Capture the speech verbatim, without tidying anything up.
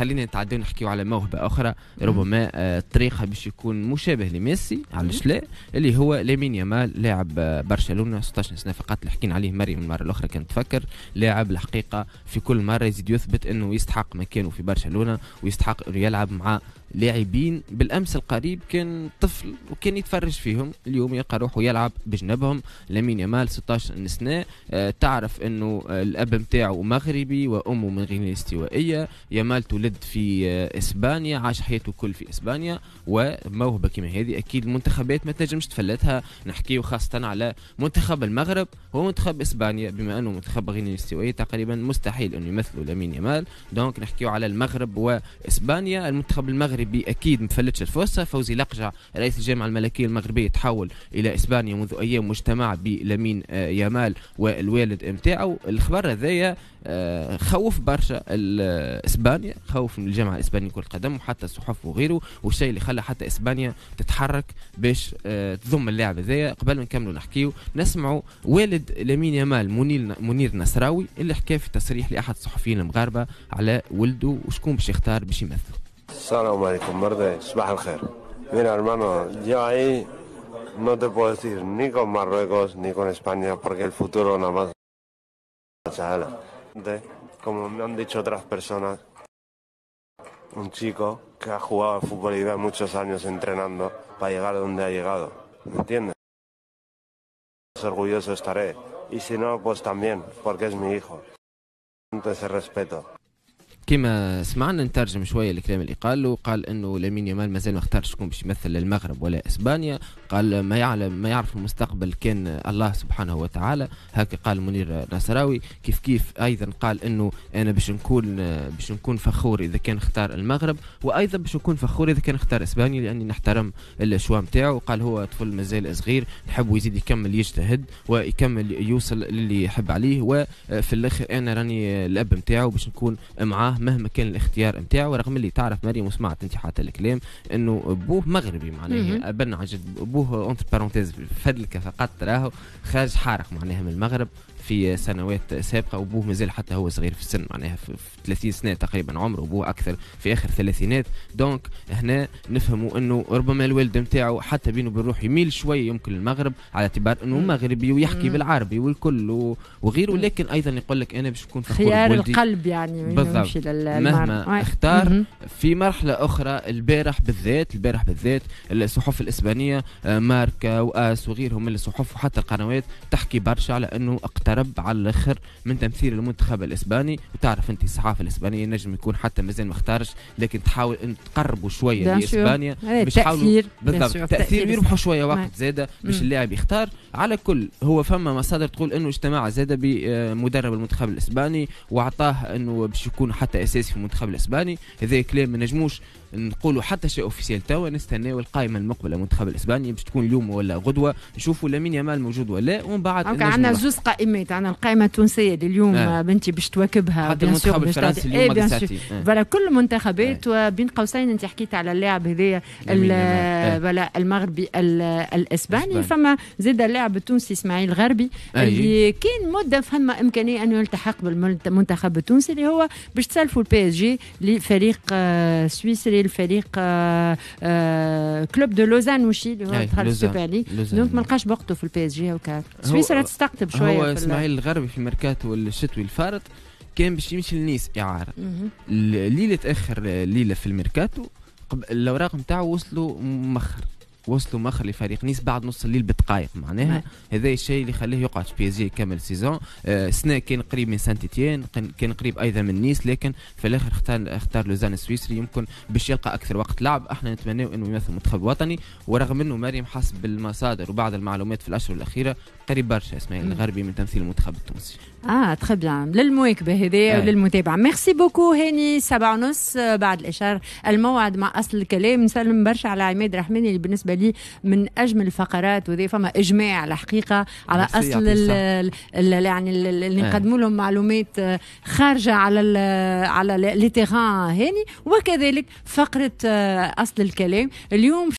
خلينا نتعداو نحكيو على موهبة اخرى ربما آه، طريقها باش يكون مشابه لميسي، علاش لا، اللي هو لامين يامال، لاعب آه، برشلونه، ستة عشر سنة فقط، اللي حكينا عليه مريم المرة الاخرى كانت تفكر. لاعب الحقيقة في كل مرة يزيد يثبت انه يستحق مكانه في برشلونة ويستحق انه يلعب مع لاعبين بالامس القريب كان طفل وكان يتفرج فيهم، اليوم يلقى روحه يلعب بجنبهم. لامين يامال ستة عشر سنه، آه، تعرف انه الاب نتاعو مغربي وامه من غينيا الاستوائيه. يامال تولد في آه، اسبانيا، عاش حياته كل في اسبانيا، وموهبه كما هذه اكيد المنتخبات ما تنجمش تفلتها. نحكيو خاصة على منتخب المغرب ومنتخب اسبانيا، بما انه منتخب غينيا الاستوائيه تقريبا مستحيل انه يمثلوا لامين يامال. donc نحكيو على المغرب واسبانيا. المنتخب المغربي اكيد ما فلتش الفرصه. فوزي لقجع رئيس الجامعة الملكية المغربية تحول الى اسبانيا منذ ايام واجتمع بلامين آه، يامال والوالد نتاعو. الخبر هذايا آه، خوف برشا اسبانيا، خوف من الجامعة الاسبانية كره القدم وحتى الصحف وغيره، والشيء اللي خلى حتى اسبانيا تتحرك باش آه، تضم اللاعب هذايا. قبل ما نكملوا نحكيو، نسمعوا والد لامين يامال منير منير نصراوي اللي حكى في تصريح لاحد الصحفيين المغاربة على ولده وشكون باش يختار باش يمثله. السلام عليكم مرضي، صباح الخير. Mira, hermano, yo ahí no te puedo decir ni con Marruecos ni con España porque el futuro nada más. Como me han dicho otras personas, un chico que ha jugado al fútbol y lleva muchos años entrenando para llegar a donde ha llegado, ¿me entiendes? Orgulloso estaré. Y si no, pues también, porque es mi hijo. Entonces respeto. كما سمعنا، نترجم شوية الكلام اللي قاله. قال انه لامين يامال مازال ما اختارش شكون باش يمثل المغرب ولا اسبانيا. قال ما يعلم ما يعرف المستقبل كان الله سبحانه وتعالى، هكا قال منير نصراوي. كيف كيف ايضا قال انه انا باش نكون باش نكون فخور اذا كان اختار المغرب، وايضا باش نكون فخور اذا كان اختار اسبانيا، لاني نحترم ال choix نتاعو. قال هو طفل مازال صغير، نحب يزيد يكمل يجتهد ويكمل يوصل للي يحب عليه، وفي الاخر انا راني الاب نتاعو باش نكون معاه مهما كان الاختيار نتاعو. رغم اللي تعرف مريم وسمعت انت حتى الكلام انه بوه مغربي، معناها ابن عن جد بوه entre parenthèses فدلك فقط، راهو خارج حارق معناها من المغرب في سنوات سابقه، وبوه مازال حتى هو صغير في السن، معناها في ثلاثين سنة تقريبا عمره، وبوه اكثر في اخر الثلاثينات. donc هنا نفهموا انه ربما الوالد نتاعو حتى بينه وبين روحه يميل شوية يمكن للمغرب على اعتبار انه مغربي ويحكي بالعربي والكل وغيره، لكن ايضا يقول لك انا باش نكون فخور. خيار القلب يعني. بالضبط، مهما اختار. في مرحلة اخرى، البارح بالذات البارح بالذات الصحف الاسبانيه، آه، ماركا واس وغيرهم من الصحف وحتى القنوات تحكي برشا على انه اقترب على الاخر من تمثيل المنتخب الاسباني. وتعرف انت الصحافة الاسبانية نجم يكون حتى مازال ما اختارش، لكن تحاول ان تقربوا شوية لاسبانيا باش يحاولوا بالضبط تاثير، يربحوا شوية وقت زاده باش اللاعب يختار. على كل هو فما مصادر تقول انه اجتمع زاده بمدرب المنتخب الاسباني واعطاه انه باش يكون حتى اساسي في المنتخب الاسباني. هذا كلام ما نجموش نقولوا حتى شيء officiel توا، نستناو القائمة المقبلة المنتخب الاسباني باش تكون اليوم ولا غدوه، نشوفوا لامين يامال موجود ولا، ومن بعد عندنا زوز قائمات، عندنا القائمة التونسية اللي اليوم آه. بنتي باش تواكبها. حتى المنتخب الفرنسي اليوم. voilà، كل المنتخبات آه. وبين قوسين انت حكيت على اللاعب هذايا voilà المغربي الاسباني، فما زاد اللاعب التونسي اسماعيل غربي اللي كان مده فما امكانية انه يلتحق بالمنتخب التونسي، اللي هو باش تسلفوا ال PSG لفريق آه، سويسري، الفريق آه، آه، Club de Lausanne وشي اللي هو دخل ال Super League، donc ما لقاش وقته في ال PSG وكا سويسرا تستقطب شويه. هو اسماعيل الغربي في الميركاتو الشتوي الفارط كان باش يمشي لنيس اعاره. ليلة اخر ليلة في الميركاتو الاوراق نتاعو وصلوا مخر وصلوا مخر لفريق نيس بعد نص الليل بدقائق معناها. هذا الشيء اللي خليه يقعد في PSG يكمل saison. آه سنة كان قريب من سانت اتيان، كان قريب ايضا من نيس، لكن في الاخر اختار اختار لوزان السويسري، يمكن باش يلقى اكثر وقت لعب. احنا نتمناو انه يمثل المنتخب الوطني، ورغم انه مريم حسب المصادر وبعض المعلومات في الاشهر الاخيرة قريب برشا اسماعيل الغربي من تمثيل المنتخب التونسي. اه très bien، للمواكبه هذه وللمتابعه. merci beaucoup هاني. سبعة ونص، بعد الاشارة الموعد مع اصل الكلام. نسلم برشا على عماد رحماني اللي بالنسبة لي من اجمل الفقرات، وذي فما اجماع الحقيقة على اصل ال ال يعني اللي نقدموا لهم معلومات خارجه على ال على les terrains هاني، وكذلك فقره اصل الكلام اليوم.